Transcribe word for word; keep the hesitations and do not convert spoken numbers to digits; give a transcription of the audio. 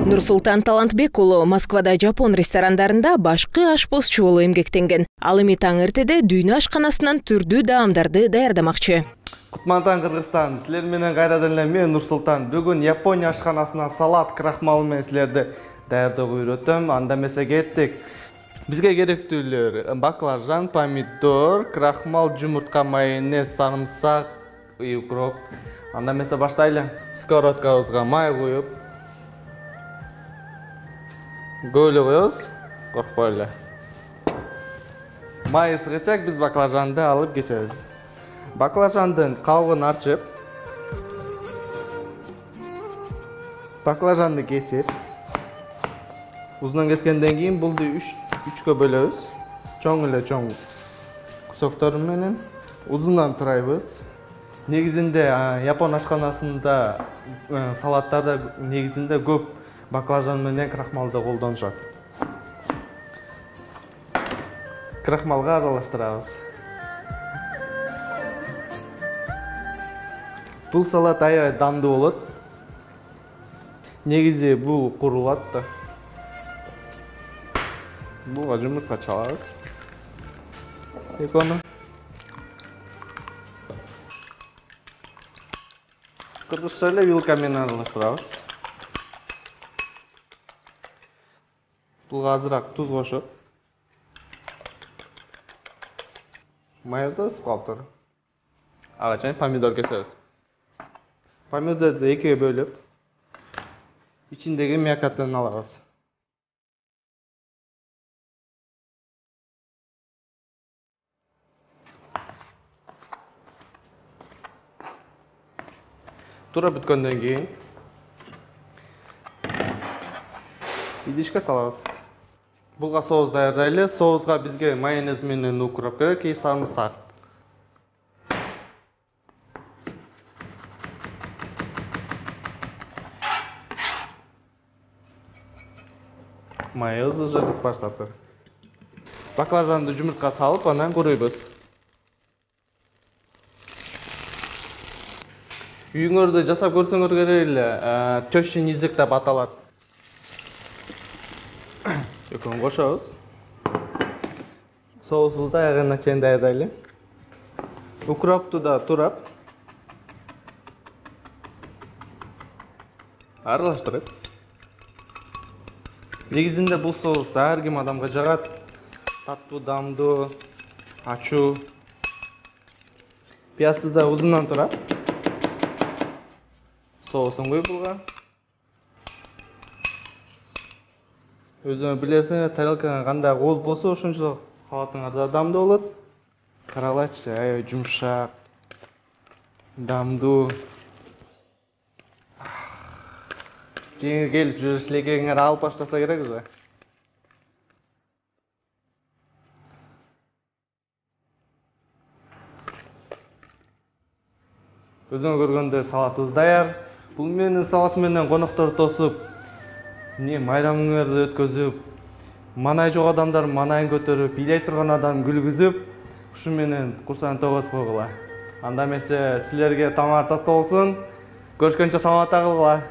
Нурсултан Талантбек уулу Москвада жапон ресторандарында башкы ашпозчу болуп эмгектенген. Ал эми таң эртеде дүйнө ашканасынан түрдүү даамдарды даярдамакчы. Кутмантан Кыргызстан, силер менен кайрадан эле мен Нурсултан. Бүгүн Япония ашканасынан салат крахмал менен силерди даярдоого үйрөтөм. Анда эмесе кеттик. Бизге керектүүлөр: баклажан, помидор, крахмал, жумуртка, майонез, сарымсак, укроп. Анда эмесе баштайлы. Сковородкабызга май коюп, көп эле коебуз, коркпой эле. Май ысыгычак биз баклажанды алып кесебиз. Баклажандын кабыгын ачып, баклажанды кесип, узунан кескенден кийин булду үчкө бөлөбүз. Чоң эле чоң кусоктор менен узундан турайбыз. Негизинде Япон ашканасында салаттарда негизинде көп баклажан менен крахмалды колдонушат. Крахмалга аралаштырабыз. Бул салат аябай дандуу болот. Негизи бул курулат да. Буга жумуртка чалабыз. Экону. Кыргызча эле вилка менен аралаштырабыз. Буга азыраак туз кошуп, майонезди ысып калыптыр. Ага чейин помидор кесебиз. Помидорду экиге бөлүп, ичиндеги мякатын алабыз. Туура бүткөндөн кийин идишке салабыз. Буга соус даярдайлы. Соуска бизге майонез менен укроп керек, и сарымсак. Майонез уже кызып баштаптыр. Баклажанды жумуртка салып, анан курuyбуз. Үйүңөрдө жасап көрсөңөр керек эле, төшүн изик деп аталат. Экөөнү кошобуз. Соусубузду аягына чейин даярдайлы. Укропту да турап аралаштырып. Негизинде бул соус ар ким адамга жагат. Таттуу, дамдуу, ачуу. Пиязды да узундан турап, соусун коюп буга. Өзүңөр билесиңер, тарелкаңа кандай кооз болсо, ошончо салатыңар да дамдуу болот. Каралачы, аябай жумшак, дамдуу. Жеңиң келип жүрүш элекеңер алып баштаса керекпиз. Өзүңөр көргөндөй салатыбыз даяр. Бул менин салат менен коноктор тосуп, не майрамыңарды өткөзүп, манай жок адамдар манайын көтөрүп, бийлей турган адам күлгүзүп, ушу менен курсагын тогуз койгула. Анда эмесе силерге тамаар таттуу болсун. Көрүшкөнчө саламатта кылгыла.